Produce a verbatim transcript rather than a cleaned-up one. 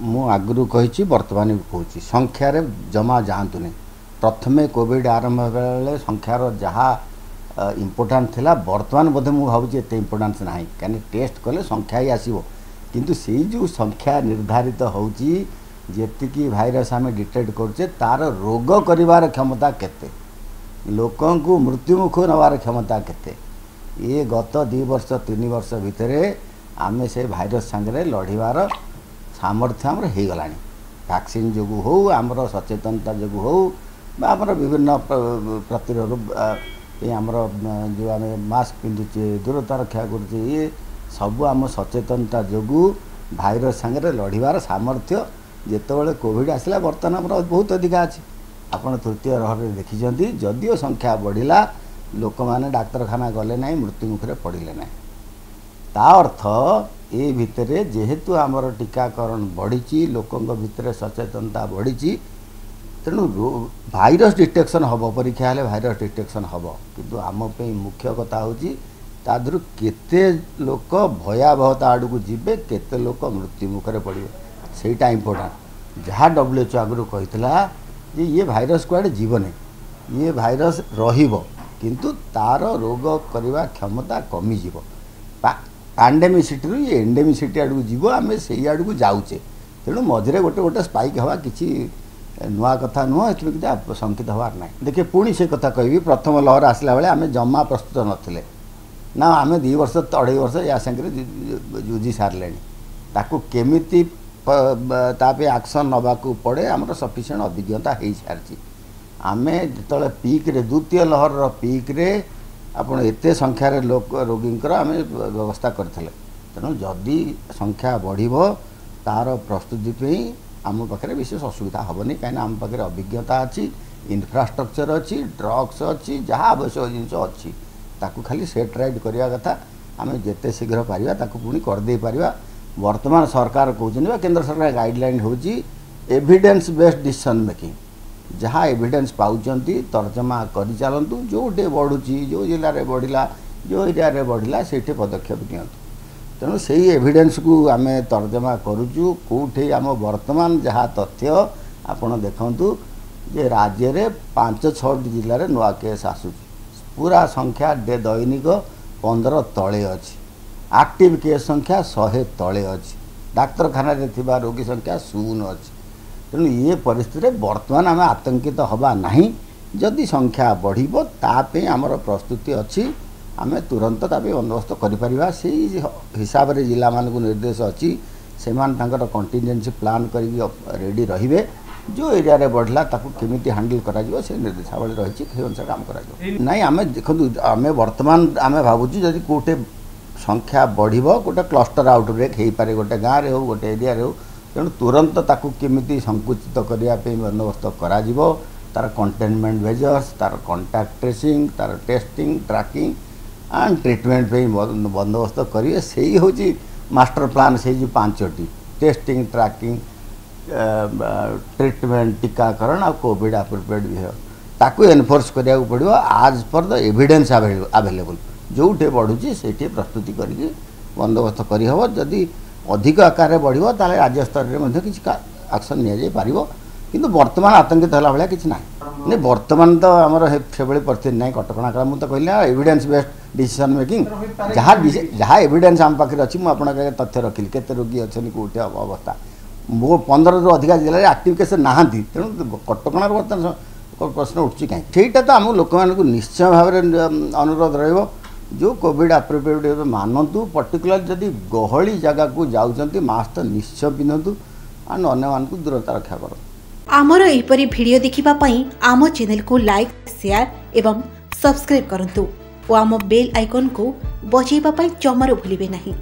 ମୁଁ ଆଗରୁ କହିଛି, ବର୍ତ୍ତମାନ ବି କହୁଛି, ସଂଖ୍ୟାରେ ଜମା ଯାଆନ୍ତୁନି। ପ୍ରଥମେ କୋଭିଡ଼ ଆରମ୍ଭ ହେବା ବେଳେ ସଂଖ୍ୟାର ଯାହା ଇମ୍ପୋର୍ଟାନ୍ସ ଥିଲା, ବର୍ତ୍ତମାନ ବୋଧେ ମୁଁ ଭାବୁଛି ଏତେ ଇମ୍ପୋର୍ଟାନ୍ସ ନାହିଁ। କାହିଁକି ଟେଷ୍ଟ କଲେ ସଂଖ୍ୟା ହିଁ ଆସିବ, କିନ୍ତୁ ସେଇ ଯେଉଁ ସଂଖ୍ୟା ନିର୍ଦ୍ଧାରିତ ହେଉଛି, ଯେତିକି ଭାଇରସ୍ ଆମେ ଡିଟେକ୍ଟ କରୁଛେ, ତା'ର ରୋଗ କରିବାର କ୍ଷମତା କେତେ, ଲୋକଙ୍କୁ ମୃତ୍ୟୁମୁଖକୁ ନେବାର କ୍ଷମତା କେତେ। ଇଏ ଗତ ଦୁଇ ବର୍ଷ ତିନି ବର୍ଷ ଭିତରେ ଆମେ ସେ ଭାଇରସ୍ ସାଙ୍ଗରେ ଲଢ଼ିବାର ସାମର୍ଥ୍ୟ ଆମର ହେଇଗଲାଣି। ଭ୍ୟାକ୍ସିନ୍ ଯୋଗୁଁ ହେଉ, ଆମର ସଚେତନତା ଯୋଗୁଁ ହେଉ ବା ଆମର ବିଭିନ୍ନ ପ୍ରତିରୋଧ ପାଇଁ ଆମର ଯେଉଁ ଆମେ ମାସ୍କ ପିନ୍ଧୁଛେ, ଦୂରତା ରକ୍ଷା କରୁଛେ, ଇଏ ସବୁ ଆମ ସଚେତନତା ଯୋଗୁଁ ଭାଇରସ୍ ସାଙ୍ଗରେ ଲଢ଼ିବାର ସାମର୍ଥ୍ୟ ଯେତେବେଳେ କୋଭିଡ଼ ଆସିଲା, ବର୍ତ୍ତମାନ ଆମର ବହୁତ ଅଧିକା ଅଛି। ଆପଣ ତୃତୀୟ ଲହରରେ ଦେଖିଛନ୍ତି, ଯଦିଓ ସଂଖ୍ୟା ବଢ଼ିଲା, ଲୋକମାନେ ଡାକ୍ତରଖାନା ଗଲେ ନାହିଁ, ମୃତ୍ୟୁମୁଖରେ ପଡ଼ିଲେ ନାହିଁ। ତା ଅର୍ଥ ଏ ଭିତରେ ଯେହେତୁ ଆମର ଟୀକାକରଣ ବଢ଼ିଛି, ଲୋକଙ୍କ ଭିତରେ ସଚେତନତା ବଢ଼ିଛି, ତେଣୁ ଭାଇରସ୍ ଡିଟେକ୍ସନ୍ ହେବ, ପରୀକ୍ଷା ହେଲେ ଭାଇରସ୍ ଡିଟେକ୍ସନ୍ ହେବ। କିନ୍ତୁ ଆମ ପାଇଁ ମୁଖ୍ୟ କଥା ହେଉଛି ତା ଦେହରୁ କେତେ ଲୋକ ଭୟାବହତା ଆଡ଼କୁ ଯିବେ, କେତେ ଲୋକ ମୃତ୍ୟୁମୁଖରେ ପଡ଼ିବେ, ସେଇଟା ଇମ୍ପୋର୍ଟାଣ୍ଟ। ଯାହା ଡବ୍ଲ୍ୟୁ ଏଚ୍ ଓ ଆଗରୁ କହିଥିଲା ଯେ ଇଏ ଭାଇରସ୍ କୁଆଡ଼େ ଯିବନି, ଇଏ ଭାଇରସ୍ ରହିବ, କିନ୍ତୁ ତା'ର ରୋଗ କରିବା କ୍ଷମତା କମିଯିବ। ପାଣ୍ଡେମିସିଟିରୁ ଇଏ ଏଣ୍ଡେମିସିଟି ଆଡ଼କୁ ଯିବ, ଆମେ ସେଇ ଆଡ଼କୁ ଯାଉଛେ। ତେଣୁ ମଝିରେ ଗୋଟେ ଗୋଟେ ସ୍ପାଇକ୍ ହେବା କିଛି ନୂଆ କଥା ନୁହଁ, ଏଥିରୁ କିଛି ଶଙ୍କିତ ହେବାର ନାହିଁ। ଦେଖିବେ, ପୁଣି ସେ କଥା କହିବି, ପ୍ରଥମ ଲହର ଆସିଲା ବେଳେ ଆମେ ଜମା ପ୍ରସ୍ତୁତ ନଥିଲେ ନା। ଆମେ ଦୁଇ ବର୍ଷ ଅଢ଼େଇ ବର୍ଷ ୟା ସାଙ୍ଗରେ ଯୁଝି ସାରିଲେଣି। ତାକୁ କେମିତି ତା ପାଇଁ ଆକ୍ସନ୍ ନେବାକୁ ପଡ଼େ, ଆମର ସଫିସିଏଣ୍ଟ ଅଭିଜ୍ଞତା ହେଇସାରିଛି। ଆମେ ଯେତେବେଳେ ପିକ୍ରେ, ଦ୍ୱିତୀୟ ଲହରର ପିକ୍ରେ ଆପଣ ଏତେ ସଂଖ୍ୟାରେ ଲୋକ ରୋଗୀଙ୍କର ଆମେ ବ୍ୟବସ୍ଥା କରିଥିଲେ। ତେଣୁ ଯଦି ସଂଖ୍ୟା ବଢ଼ିବ, ତା'ର ପ୍ରସ୍ତୁତି ପାଇଁ ଆମ ପାଖରେ ବିଶେଷ ଅସୁବିଧା ହେବନି, କାହିଁକିନା ଆମ ପାଖରେ ଅଭିଜ୍ଞତା ଅଛି, ଇନଫ୍ରାଷ୍ଟ୍ରକ୍ଚର ଅଛି, ଡ୍ରଗ୍ସ ଅଛି, ଯାହା ଆବଶ୍ୟକ ଜିନିଷ ଅଛି। ତାକୁ ଖାଲି ସେଟ୍ ରାଇଟ୍ କରିବା କଥା। ଆମେ ଯେତେ ଶୀଘ୍ର ପାରିବା ତାକୁ ପୁଣି କରିଦେଇ ପାରିବା। ବର୍ତ୍ତମାନ ସରକାର କହୁଛନ୍ତି ବା କେନ୍ଦ୍ର ସରକାର ଗାଇଡ଼ଲାଇନ୍ ହେଉଛି ଏଭିଡେନ୍ସ ବେସ୍ଡ ଡିସିସନ୍ ମେକିଂ। ଯାହା ଏଭିଡେନ୍ସ ପାଉଛନ୍ତି ତର୍ଜମା କରିଚାଲନ୍ତୁ। ଯେଉଁଠି ବଢ଼ୁଛି, ଯେଉଁ ଜିଲ୍ଲାରେ ବଢ଼ିଲା, ଯେଉଁ ଏରିଆରେ ବଢ଼ିଲା, ସେଇଠି ପଦକ୍ଷେପ ନିଅନ୍ତୁ। ତେଣୁ ସେଇ ଏଭିଡେନ୍ସକୁ ଆମେ ତର୍ଜମା କରୁଛୁ। କେଉଁଠି ଆମ ବର୍ତ୍ତମାନ ଯାହା ତଥ୍ୟ ଆପଣ ଦେଖନ୍ତୁ ଯେ ରାଜ୍ୟରେ ପାଞ୍ଚ ଛଅଟି ଜିଲ୍ଲାରେ ନୂଆ କେସ୍ ଆସୁଛି, ପୁରା ସଂଖ୍ୟା ଦୈନିକ ପନ୍ଦର ତଳେ ଅଛି, ଆକ୍ଟିଭ୍ କେସ୍ ସଂଖ୍ୟା ଶହେ ତଳେ ଅଛି, ଡାକ୍ତରଖାନାରେ ଥିବା ରୋଗୀ ସଂଖ୍ୟା ଶୂନ ଅଛି। ତେଣୁ ଇଏ ପରିସ୍ଥିତିରେ ବର୍ତ୍ତମାନ ଆମେ ଆତଙ୍କିତ ହେବା ନାହିଁ। ଯଦି ସଂଖ୍ୟା ବଢ଼ିବ, ତା ପାଇଁ ଆମର ପ୍ରସ୍ତୁତି ଅଛି, ଆମେ ତୁରନ୍ତ ତା ପାଇଁ ବନ୍ଦୋବସ୍ତ କରିପାରିବା। ସେଇ ହିସାବରେ ଜିଲ୍ଲାମାନଙ୍କୁ ନିର୍ଦ୍ଦେଶ ଅଛି, ସେମାନେ ତାଙ୍କର କଣ୍ଟିନଜେନ୍ସି ପ୍ଲାନ୍ କରିକି ରେଡ଼ି ରହିବେ। ଯେଉଁ ଏରିଆରେ ବଢ଼ିଲା, ତାକୁ କେମିତି ହ୍ୟାଣ୍ଡେଲ୍ କରାଯିବ, ସେ ନିର୍ଦ୍ଦେଶାବଳୀ ରହିଛି, ସେଇ ଅନୁସାରେ କାମ କରାଯିବ। ନାଇଁ, ଆମେ ଦେଖନ୍ତୁ, ଆମେ ବର୍ତ୍ତମାନ ଆମେ ଭାବୁଛୁ ଯଦି କେଉଁଠି ସଂଖ୍ୟା ବଢ଼ିବ, ଗୋଟେ କ୍ଲଷ୍ଟର ଆଉଟବ୍ରେକ୍ ହେଇପାରେ, ଗୋଟେ ଗାଁରେ ହେଉ, ଗୋଟେ ଏରିଆରେ ହେଉ, ତେଣୁ ତୁରନ୍ତ ତାକୁ କେମିତି ସଂକୁଚିତ କରିବା ପାଇଁ ବନ୍ଦୋବସ୍ତ କରାଯିବ। ତା'ର କଣ୍ଟେନମେଣ୍ଟ ମେଜର୍ସ, ତା'ର କଣ୍ଟାକ୍ଟ ଟ୍ରେସିଂ, ତା'ର ଟେଷ୍ଟିଂ, ଟ୍ରାକିଂ ଆଣ୍ଡ ଟ୍ରିଟମେଣ୍ଟ ପାଇଁ ବନ୍ଦୋବସ୍ତ କରିବେ। ସେଇ ହେଉଛି ମାଷ୍ଟର ପ୍ଲାନ୍। ସେଇ ଯେଉଁ ପାଞ୍ଚଟି, ଟେଷ୍ଟିଂ, ଟ୍ରାକିଂ, ଟ୍ରିଟମେଣ୍ଟ, ଟୀକାକରଣ ଆଉ କୋଭିଡ଼ ଆପ୍ରୋପ୍ରିଏଟ୍ ବିହେଭିଅର, ତାକୁ ଏନଫୋର୍ସ କରିବାକୁ ପଡ଼ିବ ଆଜ୍ ପର୍ ଦ ଏଭିଡେନ୍ସ ଆଭେଲେବୁଲ୍। ଯେଉଁଠି ବଢ଼ୁଛି, ସେଇଠି ପ୍ରସ୍ତୁତି କରିକି ବନ୍ଦୋବସ୍ତ କରିହେବ। ଯଦି ଅଧିକ ଆକାରରେ ବଢ଼ିବ, ତାହେଲେ ରାଜ୍ୟ ସ୍ତରରେ ମଧ୍ୟ କିଛି ଆକ୍ସନ୍ ନିଆଯାଇପାରିବ। କିନ୍ତୁ ବର୍ତ୍ତମାନ ଆତଙ୍କିତ ହେଲା ଭଳିଆ କିଛି ନାହିଁ। ନାଇଁ, ବର୍ତ୍ତମାନ ତ ଆମର ସେଭଳି ପରିସ୍ଥିତି ନାହିଁ। କଟକଣା କାଳ ମୁଁ ତ କହିଲି ନା, ଏଭିଡେନ୍ସ ବେସ୍ଡ ଡିସିସନ୍ ମେକିଂ। ଯାହା ଯାହା ଏଭିଡେନ୍ସ ଆମ ପାଖରେ ଅଛି, ମୁଁ ଆପଣଙ୍କ ଆଗରେ ତଥ୍ୟ ରଖିଲି, କେତେ ରୋଗୀ ଅଛନ୍ତି, କେଉଁଠି ଅବସ୍ଥା। ମୋ ପନ୍ଦରରୁ ଅଧିକା ଜିଲ୍ଲାରେ ଆକ୍ଟିଭ୍ କେସ୍ ନାହାନ୍ତି। ତେଣୁ କଟକଣାର ବର୍ତ୍ତମାନ ପ୍ରଶ୍ନ ଉଠୁଛି କାହିଁକି? ସେଇଟା ତ ଆମ ଲୋକମାନଙ୍କୁ ନିଶ୍ଚୟ ଭାବରେ ଅନୁରୋଧ ରହିବ, ଯେଉଁ କୋଭିଡ଼ ଆପ୍ରୋପ୍ରିଏଟ୍ ମାନନ୍ତୁ। ପର୍ଟିକୁଲାର ଯଦି ଗହଳି ଜାଗାକୁ ଯାଉଛନ୍ତି, ମାସ୍କ ତ ନିଶ୍ଚୟ ପିନ୍ଧନ୍ତୁ ଆଣ୍ଡ ଅନ୍ୟମାନଙ୍କୁ ଦୂରତା ରକ୍ଷା କରନ୍ତୁ। ଆମର ଏହିପରି ଭିଡ଼ିଓ ଦେଖିବା ପାଇଁ ଆମ ଚ୍ୟାନେଲକୁ ଲାଇକ୍, ସେୟାର ଏବଂ ସବସ୍କ୍ରାଇବ୍ କରନ୍ତୁ ଓ ଆମ ବେଲ୍ ଆଇକନ୍କୁ ବଜାଇବା ପାଇଁ ଜମାରୁ ଭୁଲିବେ ନାହିଁ।